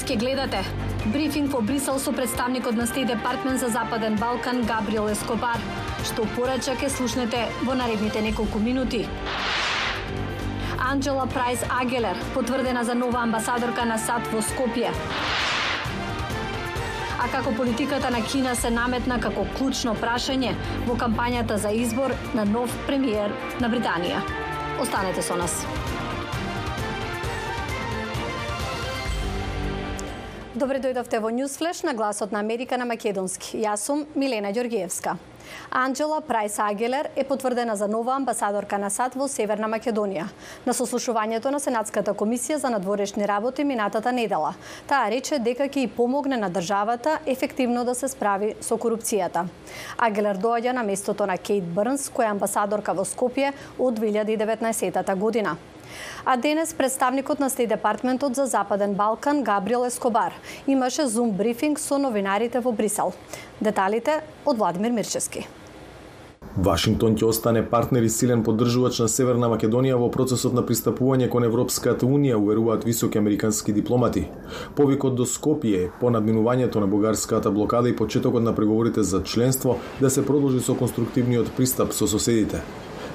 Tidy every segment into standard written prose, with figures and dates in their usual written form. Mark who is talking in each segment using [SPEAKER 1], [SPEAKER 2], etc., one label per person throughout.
[SPEAKER 1] Ке гледате брифинг во Брисел со представникот на Стейт Департмент за Западен Балкан Габриел Ескобар. Што порача ке слушнете во наредните неколку минути. Анджела Прайс Агелер потврдена за нова амбасадорка на САД во Скопје. А како политиката на Кина се наметна како клучно прашање во кампањата за избор на нов премиер на Британија. Останете со нас. Добре дојдовте во Ньюсфлеш на Гласот на Америка на македонски. Јас сум Милена Ѓоргиевска. Анджела Прайс Агелер е потврдена за нова амбасадорка на САД во Северна Македонија. На сослушувањето на Сенатската комисија за надворешни работи минатата недела, таа рече дека ќе и помогне на државата ефективно да се справи со корупцијата. Агелер доаѓа на местото на Кейт Бърнс, која е амбасадорка во Скопје од 2019 година. А денес представникот на Стейт Департментот за Западен Балкан Габриел Ескобар имаше зум брифинг со новинарите во Брисел. Деталите од Владимир Мирчевски.
[SPEAKER 2] Вашингтон ќе остане партнер и силен поддржувач на Северна Македонија во процесот на пристапување кон Европската Унија, уверуваат високи американски дипломати. Повикот до Скопје по надминувањето на бугарската блокада и почетокот на преговорите за членство да се продолжи со конструктивниот пристап со соседите.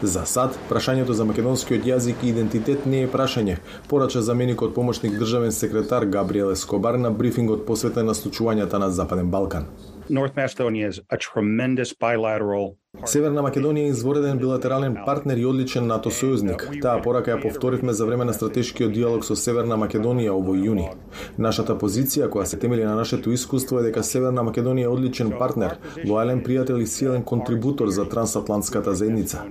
[SPEAKER 2] За САД, прашањето за македонскиот јазик и идентитет не е прашање, порача заменикот помошник државен секретар Габриел Ескобар на брифингот посветен на случувањата на Западен Балкан.
[SPEAKER 3] North Macedonia is a tremendous bilateral.
[SPEAKER 2] Северна Македонија е извореден билатерален партнер и одличен НАТО сојузник. Таа порака ја повторивме за време на стратешкиот диалог со Северна Македонија овој јуни. Нашата позиција, која се темели на нашето искуство, е дека Северна Македонија е одличен партнер, лојален пријател и силен контрибутор за трансатлантската заедница.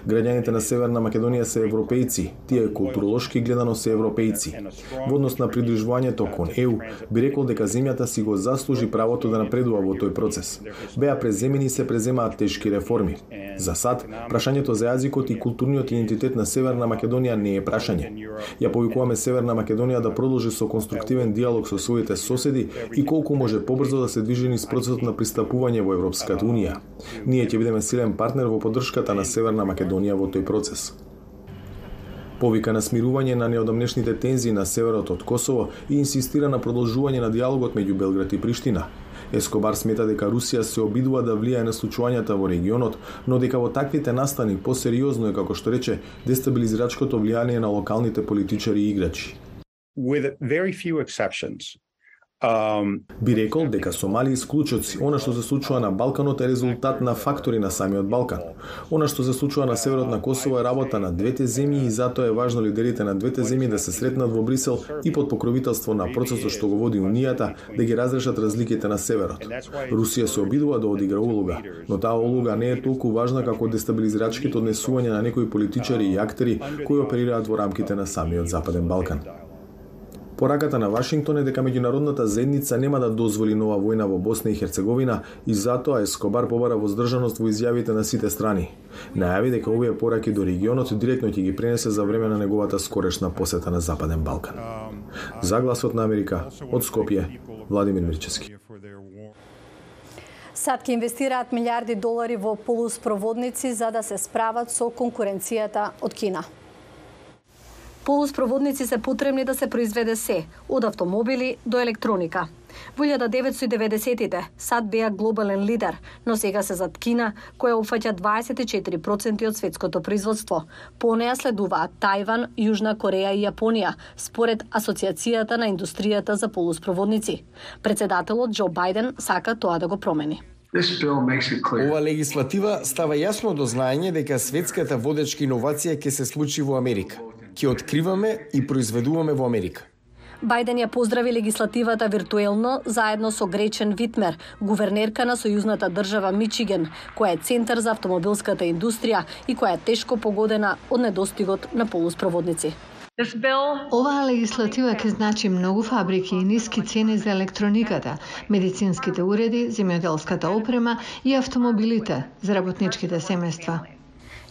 [SPEAKER 2] Граѓаните на Северна Македонија се европејци, тие културолошки гледано се европејци. Во однос на придружувањето кон ЕУ, би рекол дека земјата си го заслужи правото да напредува во тој процес. Беа преземени и се преземаат тешки реформи. За САД, прашањето за јазикот и културниот идентитет на Северна Македонија не е прашање. Ја повикуваме Северна Македонија да продолжи со конструктивен диалог со своите соседи и колку може побрзо да се движи низ процесот на пристапување во Европската Унија. Ние ќе бидеме силен партнер во поддршката на Северна Македонија во тој процес. Повика на смирување на неодамнешните тензии на северот од Косово и инсистира на продолжување на диалогот меѓу Белград и Приштина. Ескобар смета дека Русија се обидува да влијае на случувањата во регионот, но дека во таквите настани посериозно е, како што рече, дестабилизирачкото влијание на локалните политичари и играчи.
[SPEAKER 3] With very few exceptions.
[SPEAKER 2] Би рекол дека со мали исклучоци, она што се случува на Балканот е резултат на фактори на самиот Балкан. Она што се случува на северот на Косово е работа на двете земји и затоа е важно лидерите на двете земји да се сретнат во Брисел и под покровителство на процесот што го води Унијата да ги разрешат разликите на северот. Русија се обидува да одигра улога, но таа улога не е толку важна како дестабилизирачките однесувања на некои политичари и актери кои оперираат во рамките на самиот Западен Балкан. Пораката на Вашингтон е дека меѓународната заедница нема да дозволи нова војна во Босна и Херцеговина и затоа Ескобар побара воздржаност во изјавите на сите страни. Најави дека овие пораки до регионот директно ќе ги пренесе за време на неговата скорешна посета на Западен Балкан. За Гласот на Америка, од Скопје, Владимир Мирчевски.
[SPEAKER 1] САД ќе инвестираат милиарди долари во полуспроводници за да се справат со конкуренцијата од Кина. Полуспроводници се потребни да се произведе се, од автомобили до електроника. Во 1990-тите САД беа глобален лидер, но сега се зад Кина, која опфаќа 24% од светското производство. По неа следуваат Тајван, Јужна Кореја и Јапонија, според Асоциацијата на индустријата за полуспроводници. Председателот Џо Бајден сака тоа да го промени.
[SPEAKER 4] Ова легислатива става јасно до знаење дека светската водечка иновација ќе се случи во Америка. Ќе откриваме и произведуваме во Америка.
[SPEAKER 1] Бајден ја поздрави легислативата виртуелно заедно со Гречен Витмер, гувернерка на сојузната држава Мичиген, која е центар за автомобилската индустрија и која е тешко погодена од недостигот на полуспроводници.
[SPEAKER 5] Оваа легислатива ќе значи многу фабрики и ниски цени за електрониката, медицинските уреди, земјоделската опрема и автомобилите за работничките семејства.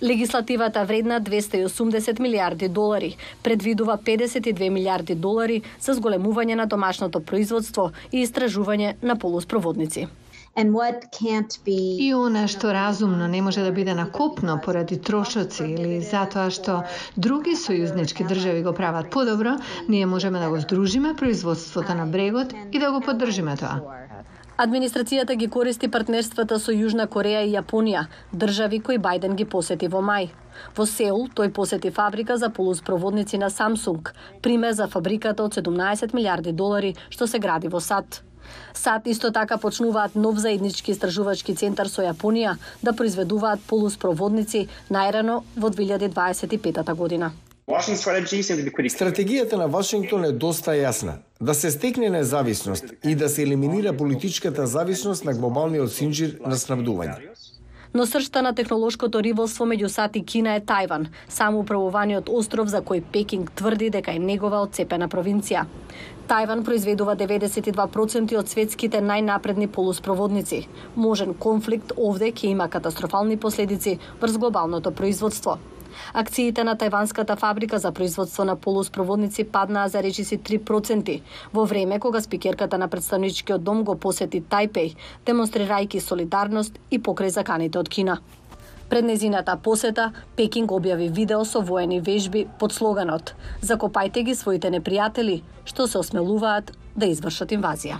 [SPEAKER 1] Легислативата вредна 280 милиарди долари, предвидува 52 милиарди долари за зголемување на домашното производство и истражување на полуспроводници.
[SPEAKER 5] И она што разумно не може да биде на копно поради трошоци или затоа што други сојузнички држави го прават подобро, ние можеме да го здружиме производството на брегот и да го поддржиме тоа.
[SPEAKER 1] Администрацијата ги користи партнерствата со Јужна Кореја и Јапонија, држави кои Бајден ги посети во мај. Во Сеул тој посети фабрика за полуспроводници на Samsung, пример за фабриката од 17 милиарди долари што се гради во САД. САД исто така почнуваат нов заеднички истражувачки центар со Јапонија да произведуваат полуспроводници најрано во 2025 година.
[SPEAKER 4] Стратегијата на Вашингтон е доста јасна. Да се стекне независност и да се елиминира политичката зависност на глобалниот синџир на снабдување.
[SPEAKER 1] Но сршта на технолошкото ривалство меѓу САД и Кина е Тајван, самоуправуваниот остров за кој Пекинг тврди дека е негова одцепена провинција. Тајван произведува 92% од светските најнапредни полуспроводници. Можен конфликт овде ќе има катастрофални последици врз глобалното производство. Акциите на тајванската фабрика за производство на полуспроводници паднаа за речиси 3%, во време кога спикерката на представничкиот дом го посети Тајпеј, демонстрирајќи солидарност и покрај заканите од Кина. Пред незината посета, Пекинг објави видео со воени вежби под слоганот "Закопајте ги своите непријатели, што се осмелуваат да извршат инвазија".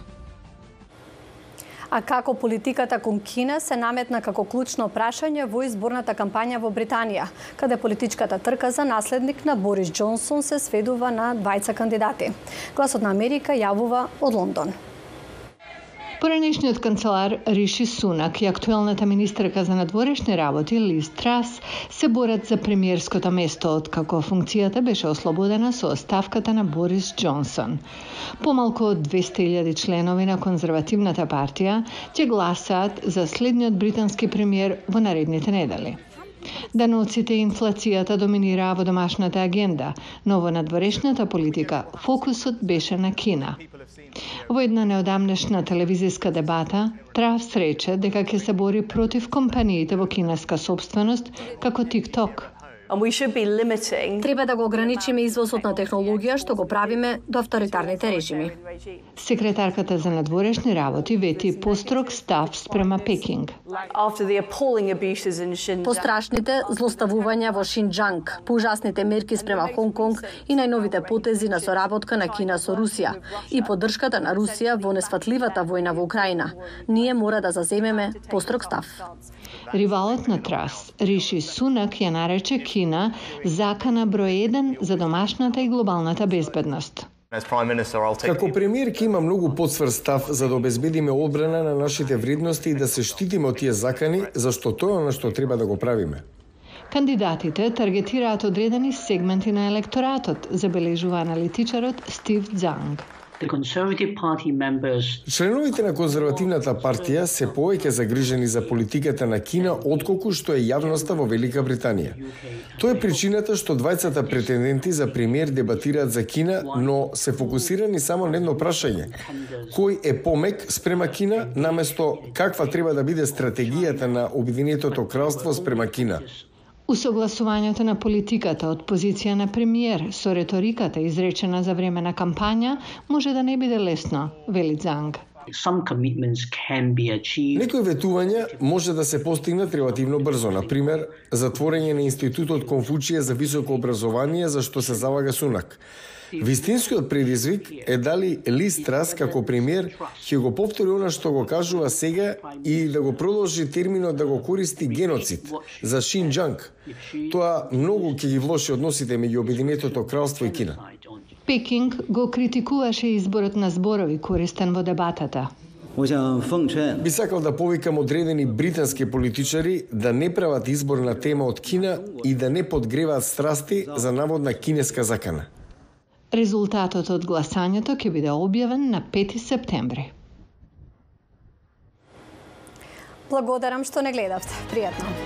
[SPEAKER 1] А како политиката кон Кина се наметна како клучно прашање во изборната кампања во Британија, каде политичката трка за наследник на Борис Џонсон се сведува на двајца кандидати. Гласот на Америка јавува од Лондон.
[SPEAKER 5] Поранешниот канцелар Риши Сунак и актуелната министерка за надворешни работи Лиз Трас се борат за премиерското место откако функцијата беше ослободена со оставката на Борис Џонсон. Помалку од 200.000 членови на конзервативната партија ќе гласаат за следниот британски премиер во наредните недели. Даноците и инфлацијата доминираа во домашната агенда, но во надворешната политика фокусот беше на Кина. Во една неодамнешна телевизиска дебата, Трас рече дека ќе се бори против компаниите во кинеска собственост како TikTok.
[SPEAKER 1] Треба да го ограничиме извозот на технологија што го правиме до авторитарните режими.
[SPEAKER 5] Секретарката за надворешни работи вети построг став спрема Пекинг.
[SPEAKER 1] По страшните злоставувања во Шинџанг, по ужасните мерки спрема Хонг Конг и најновите потези на соработка на Кина со Русија и поддршката на Русија во несфатливата војна во Украина, ние мора да заземеме построг став.
[SPEAKER 5] Ривалот на Трас, Риши Сунак, ја нарече Кина закана број 1 за домашната и глобалната безбедност.
[SPEAKER 4] Како премиер ќе има многу подсвр став за да обезбедиме одбрана на нашите вредности и да се штитиме од тие закани, зашто тоа е она што треба да го правиме.
[SPEAKER 5] Кандидатите таргетираат одредени сегменти на електоратот, забележува аналитичарот Стив Занг.
[SPEAKER 4] Членовите на конзервативната партија се повеќе загрижени за политиката на Кина отколку што е јавноста во Велика Британија. Тоа е причината што двајцата претенденти за премиер дебатираат за Кина, но се фокусирани само на едно прашање: кој е помек спрема Кина, наместо каква треба да биде стратегијата на Обединетото кралство спрема Кина.
[SPEAKER 5] Усогласувањето на политиката од позиција на премиер со реториката изречена за време на кампања може да не биде лесно, вели Занг.
[SPEAKER 4] Некои ветувања може да се постигнат релативно брзо, например, затворење на Институтот Конфуција за високо образование за што се залага Сунак. Вистинскиот предизвик е дали Лиз Трас како премиер ќе го повтори она што го кажува сега и да го продолжи терминот да го користи геноцид за Шинџанг. Тоа многу ќе ги влоши односите меѓу Обединетото кралство и Кина.
[SPEAKER 5] Пекинг го критикуваше изборот на зборови користен во дебатата.
[SPEAKER 4] Би сакал да повикам одредени британски политичари да не прават избор на тема од Кина и да не подгреваат страсти за наводна кинеска закана.
[SPEAKER 5] Резултатот од гласањето ќе биде објавен на 5 септември.
[SPEAKER 1] Благодарам што не гледавте. Пријатно.